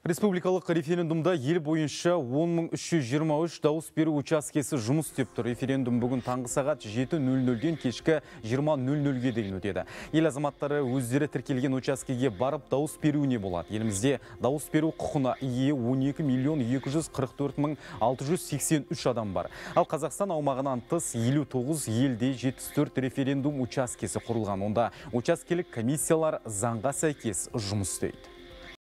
Республикалық референдумда ел бойынша 10.323 дауыс беру учаскесі жұмыс істеп тұр. Референдум бүгін таңғы сағат 7:00-ден кешкі 20:00-ге дейін өтеді. Ел азаматтары өздері тіркелген учаскеге барып дауыс беруіне болады. Елімізде дауыс беру құқына ие 12.244.683 адам бар. Ал Қазақстан аумағынан тыс 59 елде 74 референдум учаскесі құрылған. Онда учаскелік комиссиялар заңға сәйкес жұмыс істейді.